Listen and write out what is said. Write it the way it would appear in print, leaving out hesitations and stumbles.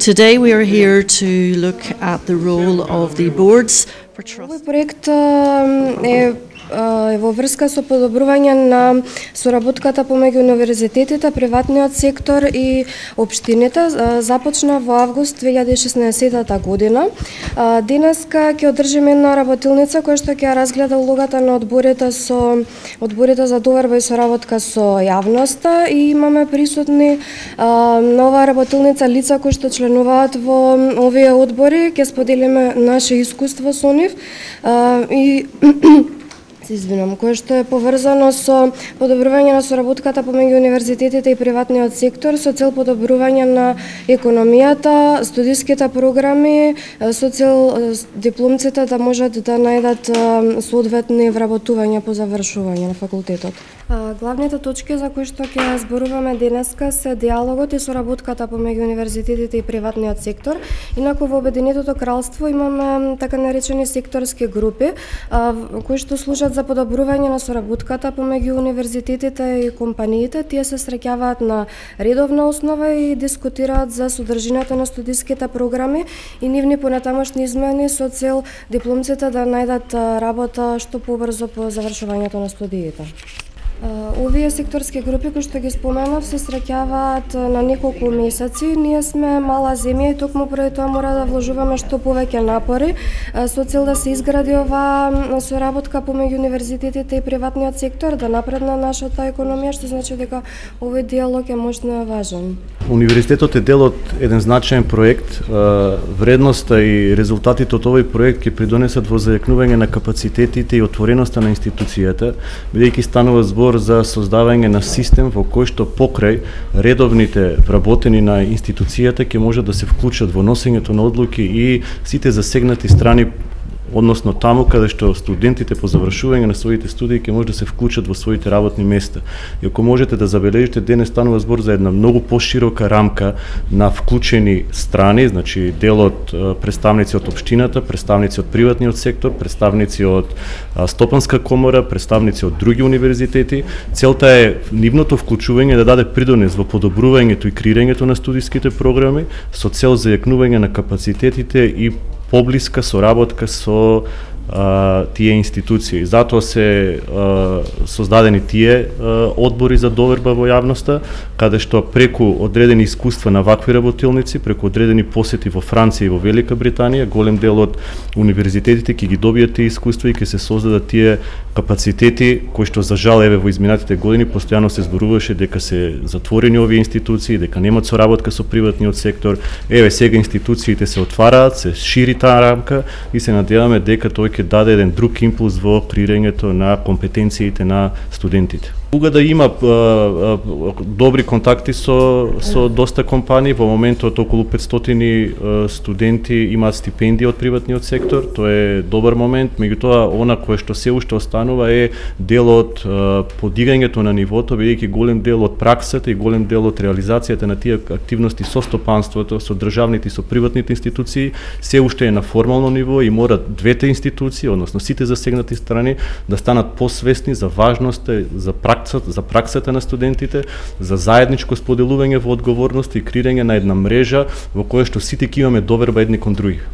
Today we are here to look at the role of the boards for trust. Овој проект е во врска со подобрување на соработката помеѓу универзитетите, приватниот сектор и општините. Започна во август 2016 година. Денеска ќе одржиме една работилница која што ќе разгледа улогата на одборите за доверба и соработка со јавноста и имаме присутни на оваа работилница лица кои што членуваат во овие одбори. Ќе споделиме наше искуство со нив и кое што е поврзано со подобрување на соработката помеѓу универзитетите и приватниот сектор со цел подобрување на економијата, студиските програми, со цел дипломците да можат да најдат соодветни вработувања по завршување на факултетот. Главните точки за кои што ќе зборуваме денеска се диалогот и соработката помеѓу универзитетите и приватниот сектор. Инаку во Обединетото кралство имаме така наречени секторски групи кои што служат за подобрување на соработката помеѓу универзитетите и компаниите. Тие се среќаваат на редовна основа и дискутираат за содржината на студиските програми и нивни понатамошни измени со цел дипломците да најдат работа што побрзо по завршувањето на студиите. Овие секторски групи кои што ги споменав се среќаваат на неколку месеци. Ние сме мала земја и токму поради тоа мора да вложуваме што повеќе напори со цел да се изгради оваа соработка помеѓу универзитетите и приватниот сектор, да напредне нашата економија, што значи дека овој диалог е можно важен. Универзитетот е дел од еден значаен проект. Вредноста и резултатите од овој проект ќе придонесат во зајакнување на капацитетите и отвореноста на институцијата, бидејќи станува збор за создавање на систем во кој што покрај редовните вработени на институцијата ќе може да се вклучат во носењето на одлуки и сите засегнати страни, односно таму каде што студентите по завршување на своите студии ќе може да се вклучат во своите работни места. И ако можете да забележите, денес станува збор за една многу поширока рамка на вклучени страни, значи дел од представници од општината, представници од приватниот сектор, представници од Стопанска комора, представници од други универзитети. Целта е нивното вклучување да даде придонес во подобрувањето и креирањето на студиските програми со цел зајакнување на капацитетите и поблиска соработка со тие институции. Затоа се создадени тие одбори за доверба во јавноста, каде што преку одредени искуства на вакви работилници, преку одредени посети во Франција и во Велика Британија, голем дел од универзитетите ќе ги добијат тие искуства и ќе се создадат тие капацитети кои што за жал еве во изминатите години постојано се зборуваше дека се затворени овие институции, дека немаат соработка со приватниот сектор. Еве сега институциите се отвараат, се шири таа рамка и се надеваме дека тој ќе даде еден друг импулс во креирањето на компетенциите на студентите. Угада има добри контакти со доста компании. Во моментот околу 500 студенти имаат стипендија од приватниот сектор. Тоа е добар момент, меѓутоа она кое што се уште останува е дел од подигањето на нивото, бидејќи голем дел од праксата и голем дел од реализацијата на тие активности со стопанството, со државните и со приватните институции се уште е на формално ниво и мора двете институции, односно сите засегнати страни да станат посвесни за важноста за праксата на студентите, за заедничко споделување во одговорност и креирање на една мрежа во која што сите ќе имаме доверба едни кон други.